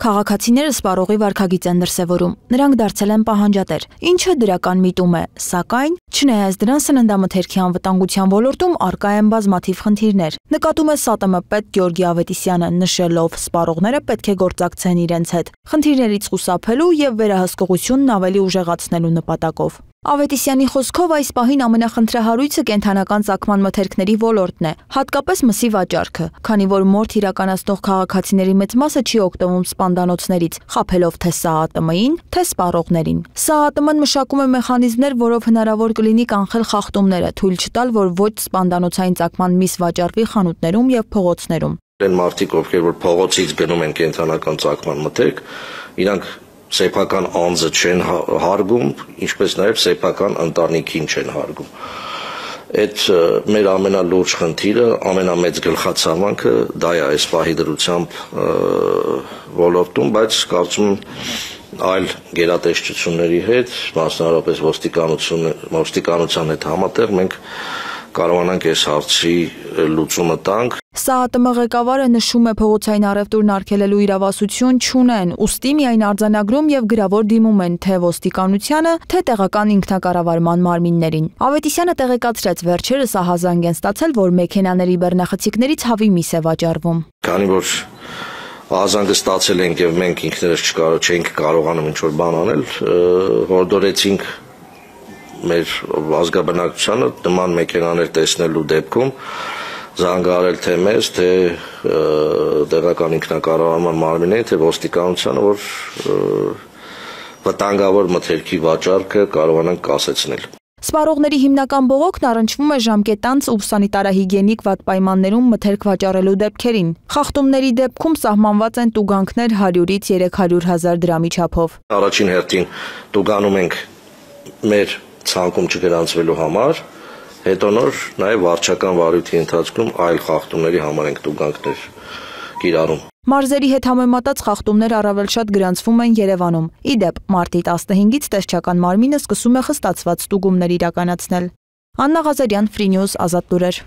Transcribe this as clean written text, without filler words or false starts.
Քաղաքացիները սպառողի վարքագիծ են դրսևորում, նրանք դարձել են պահանջատեր, ինչը դրական միտում է, սակայն, չնայած դրան սննդամթերքի անվտանգության ոլորտում առկա են բազմաթիվ խնդիրներ, նկատում է ՍԱՏՄ պետ Գեորգի Ավետիսյանը, նշելով, սպառողները պետք է գործակցեն իրենց հետ, խնդիրներից խուսափելու եւ վերահսկողությունն ավելի ուժեղացնելու նպատակով։ Ավետիսյանի խոսքով այս պահին ամենախնդրահարույցը կենդանական ծագման մթերքների ոլորտն է, հատկապես մսի վաճառքը, քանի որ մորթ իրականացնող քաղաքացիների մեծ մասը չի օգտվում սպանդանոցներից, խաբելով թե ՍԱՏՄ-ին, թե սպառողներին։ ՍԱՏՄ-ն մշակում է մեխանիզմներ, որով հնարավոր կլինի կանխել խախտումները, թույլ չտալ, որ ոչ սպանդանոցային ծագման միս վաճառվի խանութներում եւ փողոցներում։ Այն մարդիկ, ովքեր որ փողոցից գնում են կենդանական ծագման մթերք, իրանք սեփական անձը չեն հարգում, ինչպես նաև սեփական ընտանիքին չեն հարգում։ Այդ մեր ամենալուրջ խնդիրը, ամենամեծ գլխացավանքը դա է այս պահի դրությամբ ոլորտում, բայց կարծում այլ գերատեսչությունների հետ, մասնավորապես ոստիկանության հետ համատեղ մենք կարողանանք այս հարցի լուծումը տանք։ ՍԱՏՄ ղեկավարը նշում է, փողոցային առևտուրն արգելելու իրավասություն չունեն, ուստի միայն արձանագրում եւ գրավոր դիմում են թե ոստիկանությանը, թե տեղական ինքնակառավարման մարմիններին։ Ավետիսյանը տեղեկացրեց, վերջերս ահազանգ են ստացել, որ մեքենաների բեռնախցիկներից հավի միս է վաճառվում։ Քանի որ ահազանգը ստացել ենք եւ մենք ինքներս չենք կարողանում ինչ-որ բան անել, հորդորեցինք մեր ազգաբնակչությանը նման մեքենաներ տեսնելու դեպքում զանգահարել թե մեզ, թե տեղական ինքնակառավարման մարմիններին, թե ոստիկանությանը, որ վտանգավոր մթերքի վաճառքը կարողանանք կասեցնել։ Սպառողների հիմնական բողոքն առնչվում է ժամկետանց ու սանիտարահիգիենիկ վատ պայմաններում մթերք վաճառելու դեպքերին։ Խախտումների դեպքում սահմանված են տուգանքներ 100-ից 300.000 դրամի չափով։ Առաջին հերթին տուգանում ենք մեր ցանկում չգրանցվելու համար, հետո նոր նաև վարչական վարույթի ընթացքում այլ խախտումների համար ենք տուգանքներ կիրառում։ Մարզերի հետ համեմատած խախտումներ առավել շատ գրանցվում են Երևանում։ Ի դեպ, մարտի 15-ից տեսչական մարմինը սկսում է խստացված ստուգումներ իրականացնել։ Աննա Ղազարյան, Free News, Ազատ լուրեր։